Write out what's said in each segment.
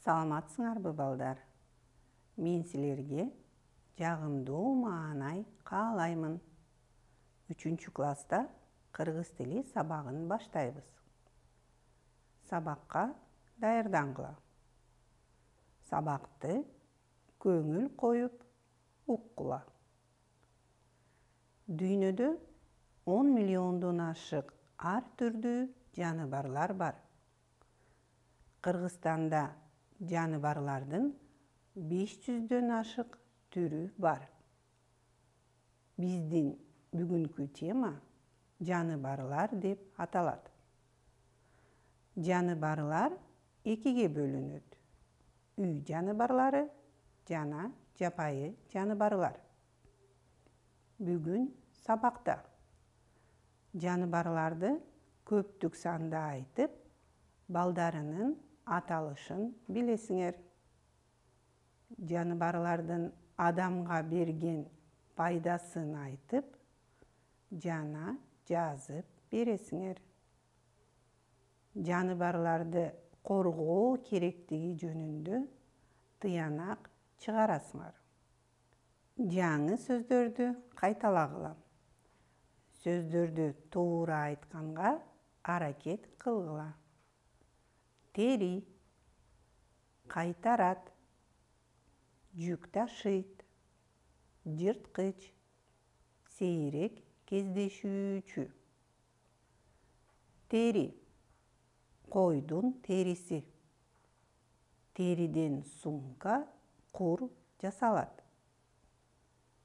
Саламатсыңарбы балдар? Мен силерге жагымдуу маанай каалаймын. 3-класста кыргыз тили сабагын баштайбыз. Сабакка даярдангыла. Сабакты көңүл коюп уккула. Дүйнөдө 10 миллиондон ашык ар түрдүү жаныбарлар бар. Кыргызстанда жаныбарлардын 500дөн ашык түрү бар. Биздин бүгүнкү тема жаныбарлар деп аталат. Жаныбарлар экиге бөлүнөт: үй жаныбарлары жана жапайы жаныбарлар. Бүгүн сабакта жаныбарларды көптүк санда айтып, балдарынын аталышын билесиңер. Жаныбарлардын адамга берген пайдасын айтып жана жазып бересиңер. Жаныбарларды коргоо керектиги жөнүндө тыянак чыгарасыңар. Жаңы сөздөрдү кайталагыла. Сөздөрдү туура айтканга аракет кылгыла. Тери, кайтарат, жүк ташыйт, жырткыч, сейрек кездешүүчү. Тери — койдун териси. Териден сумка, кур жасалат.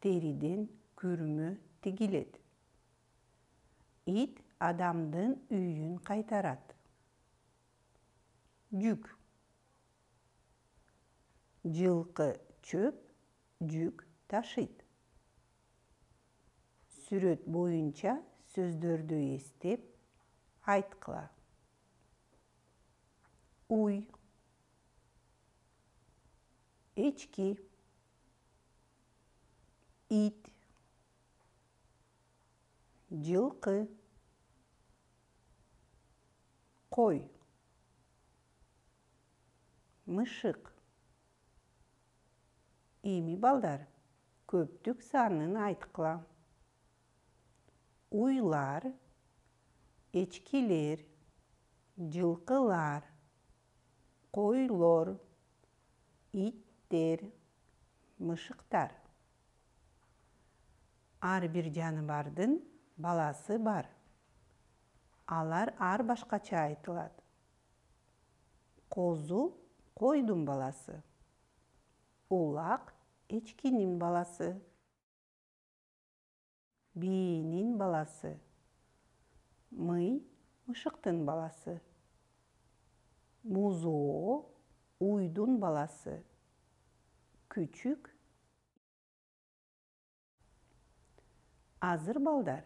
Териден күрмө тигилет. Ит адамдын үйүн кайтарат. Жүк. Жылкы чөп, жүк ташыйт. Сүрөт боюнча сөздөрдү эстеп айткыла. Уй, эчки, ит, жылкы, кой, мышык. Эми балдар, көптүк санын айткыла. Уйлар, эчкилер, жылкылар, койлор, иттер, мышыктар. Ар бир жаныбардын баласы бар. Алар ар башкача айтылат. Козу — койдун баласы. Улак — эчкинин баласы. Бийнин баласы. Мый — мышыктын баласы. Музоо — уйдун баласы. Күчүк. Азыр балдар,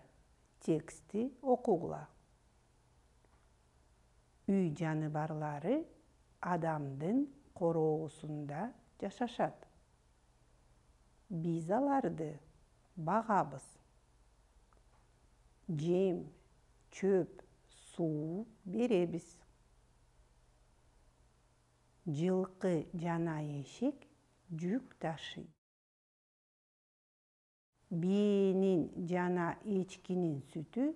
текстти окугула. Үй жаныбарлары адамдын короосунда жашашат. Биз аларды багабыз. Жем, чөп, суу беребиз. Жылкы жана эшек жүк ташыйт. Бийнин жана эчкинин сүтү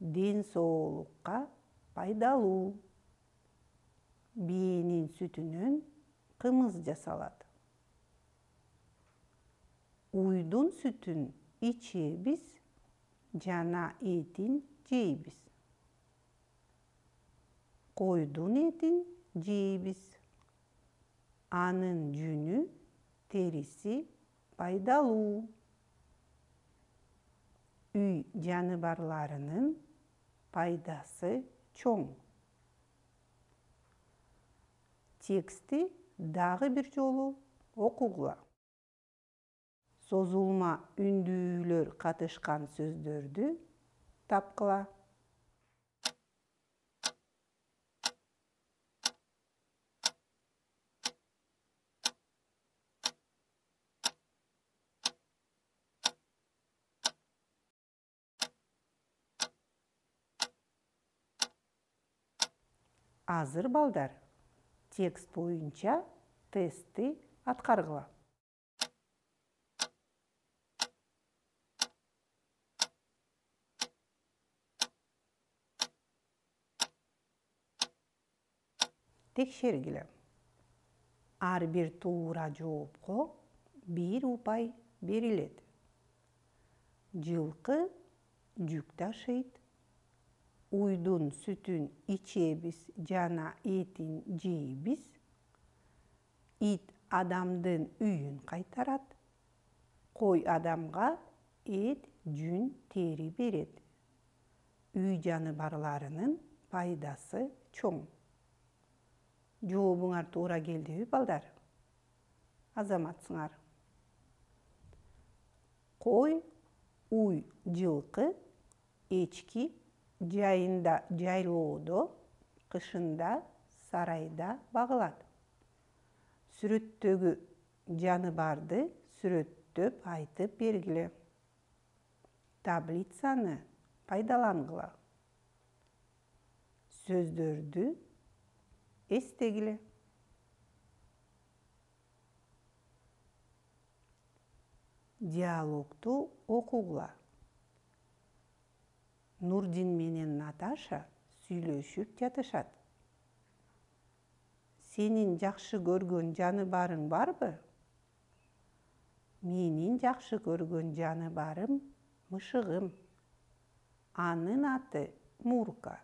ден соолукка пайдалуу. Бийнин сүтүнөн кымыз жасалат. Уйдун сүтүн ичебиз жана этин жейбиз. Койдун этин жейбиз. Анын жүнү, териси пайдалуу. Үй жаныбарларынын пайдасы чоң. Текстти дагы бир жолу окугула. Созулма үндүүлөр катышкан сөздөрдү тапкыла. Азыр балдар, Текст боюнча тестти аткаргыла. Текшергиле. Ар бир туура жоопко 1 упай берилет. Жылкы жүк ташыйт. Уйдун сүтүн ичебиз жана этин жейбиз. Ит адамдын үйүн кайтарат. Кой адамга эт, жүн, тери берет. Үй жаныбарларынын пайдасы чоң. Жообуңар туура келдиби, балдар? Азаматсыңар. Кой, уй, жылкы, эчки жайында жайлоодо, кышында сарайда багылат. Сүрөттөгү жаныбарды сүрөттөп айтып бергиле. Таблицаны пайдалангыла. Сөздөрдү эстегиле. Диалогту окугула. Нурдин менен Наташа сүйлөшүп жатышат. Сенин жакшы көргөн жаныбарың барбы? Менин жакшы көргөн жаныбарым мышыгым. Анын аты Мурка.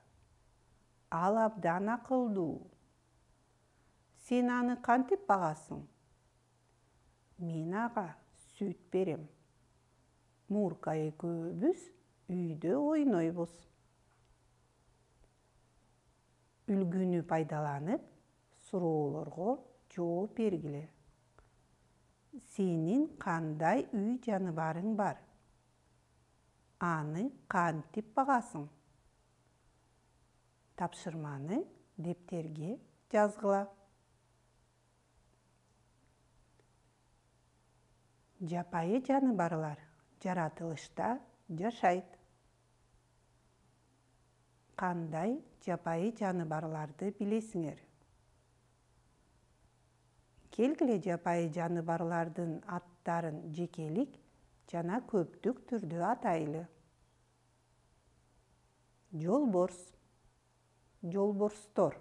Ал абдан акылдуу. Сен аны кантип багасың? Мен ага сүт берем. Мурка экөөбүз үйдө ойнойбуз. Үлгүнү пайдаланып, суроолорго жооп бергиле. Сенин кандай үй жаныбарың бар? Аны кантип багасың? Тапшырманы дептерге жазгыла. Жапайы жаныбарлар жаратылышта жашайт. Кандай жапайы жаныбарларды билесиңер? Келгиле жапайы жаныбарлардын аттарын жекелик жана көптүк түрдө атайлы. Жолборс, жолборстор.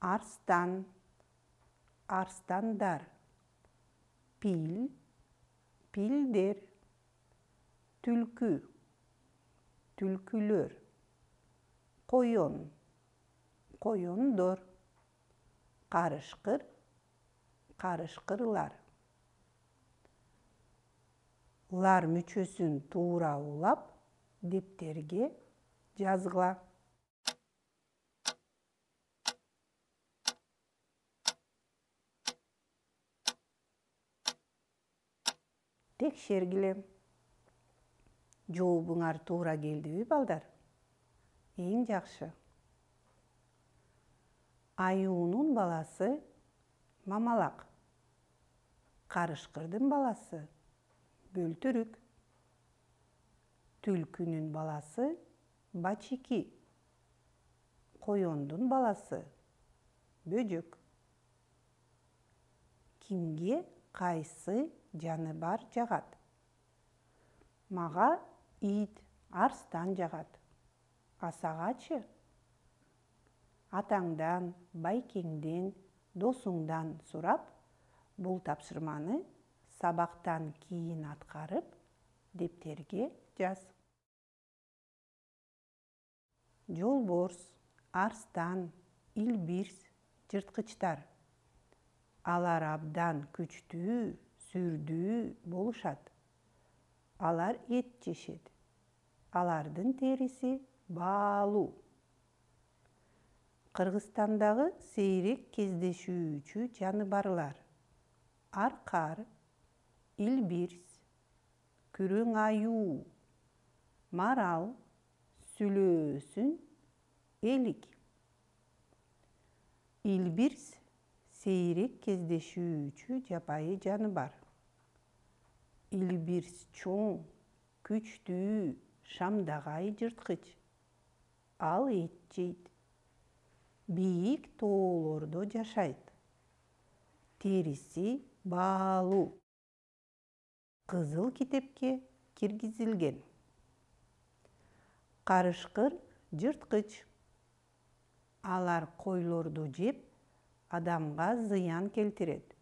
Арстан, арстандар. Пил, пилдер. Түлкү, түлкүлөр. Коён, коёндор. Карышкыр, карышкырлар. Лар мүчөсүн туура улап, дептерге жазгыла. Текшергиле. Жообуңар туура келдиби, балдар? Эң жакшы. Аюунун баласы мамалак. Карышкырдын баласы бөлтүрүк. Түлкүнүн баласы бачики. Коёндун баласы бөжөк. Кимге кайсы жаныбар жагат? Мага ит, арстан жагат. А сагачы? Атаңдан, байкеңден, досуңдан сурап, бул тапшырманы сабактан кийин аткарып, дептерге жаз. Жолборс, арстан, илбирс, жырткычтар. Алар абдан күчтүү, сүрдүү болушат. Алар эт жешет. Алардын териси баалуу. Кыргызстандагы сейрек кездешүүчү жаныбарлар: аркар, илбирс, күрөң аюу, марал, сүлөөсүн, элик. Илбирс сейрек кездешүүчү жапайы жаныбар. Илбирс чоң, күчтүү, шамдагай жырткыч. Ал эт жейт. бийик тоолордо жашайт. Териси баалуу. Кызыл китепке киргизилген. Карышкыр жырткыч. Алар койлорду жеп, адамга зыян келтирет.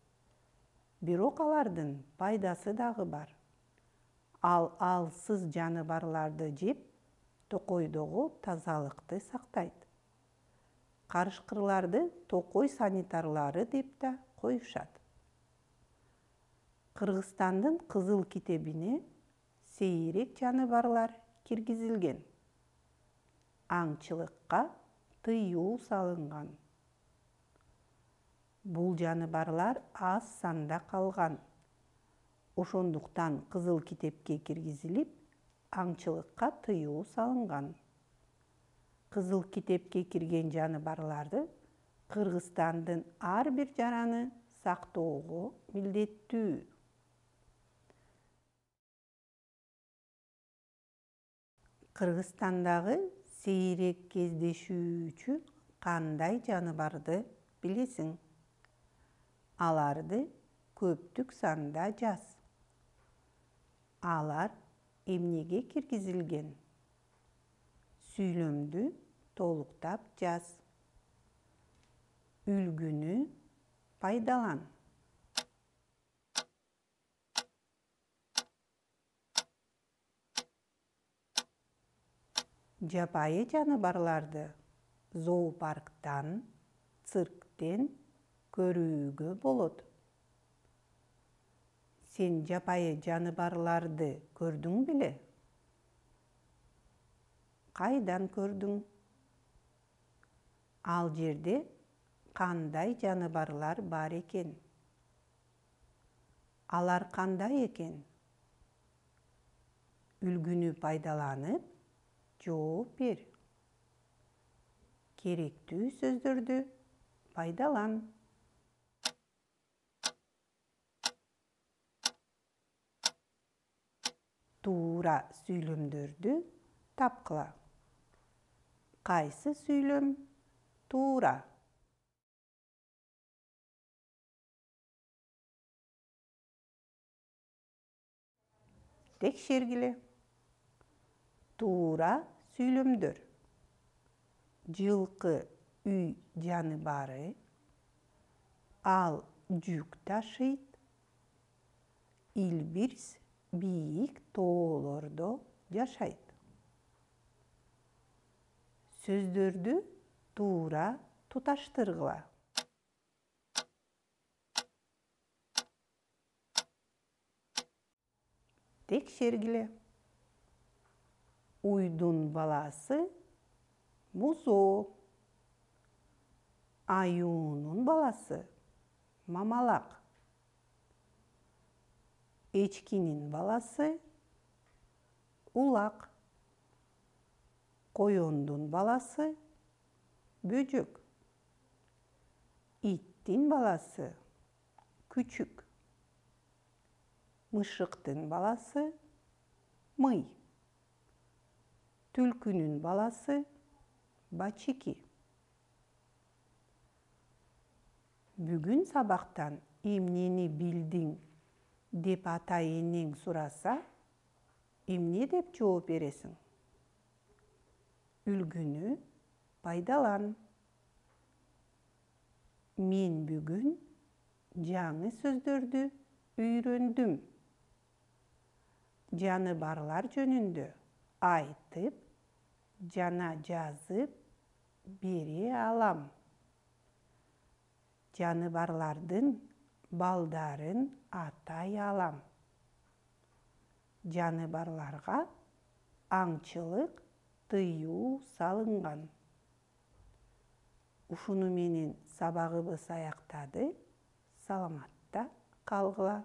Бирок алардын пайдасы дагы бар. Ал алсыз жаныбарларды жеп, токойдогу тазалыкты сактайт. Карышкырларды токой санитарлары деп да коюшат. Кыргызстандын кызыл китебине сейрек жаныбарлар киргизилген. Аңчылыкка тыюу салынган. Бул жаныбарлар аз санда калган. Ошондуктан кызыл китепке киргизилип, аңчылыкка тыюу салынган. Кызыл китепке кирген жаныбарларды Кыргызстандын ар бир жараны сактоого милдеттүү. Кыргызстандагы сейрек кездешүүчү кандай жаныбарды билесиң? Аларды көптүк санда жаз. Алар эмнеге киргизилген? Сүйлөмдү толуктап жаз. Үлгүнү пайдалан. Жапайы жаныбарларды зоопарктан, цирктен көрүүгө болот. Сен жапайы жаныбарларды көрдүң беле? Кайдан көрдүң? Ал жерде кандай жаныбарлар бар экен? Алар кандай экен? Үлгүнү пайдаланып, жооп бер. Керектүү сөздөрдү пайдалан. Туура сүйлөмдөрдү тапкыла. Кайсы сүйлөм туура? Текшергиле. Туура сүйлөмдөр. Жылкы үй жаныбары. Ал жүк ташыйт. Илбирс бийик тоолордо жашайт. Сөздөрдү туура туташтыргыла. Текшергиле. Уйдун баласы музоо. Аюунун баласы мамалак. Эчкинин баласы улак. Коёндун баласы бөжөк. Иттин баласы күчүк. Мышыктын баласы мый. Түлкүнүн баласы бачики. Бүгүн сабактан эмнени билдиң деп ата-энең сураса, эмне деп жооп бересиң? Үлгүнү пайдалан. Мен бүгүн жаңы сөздөрдү үйрөндүм. Жаныбарлар жөнүндө айтып жана жазып бере алам. Жаныбарлардын балдарын атай алам. Жаныбарларга аңчылык тыюу салынган. Ушуну менен сабагыбыз аяктады. Саламатта калгыла.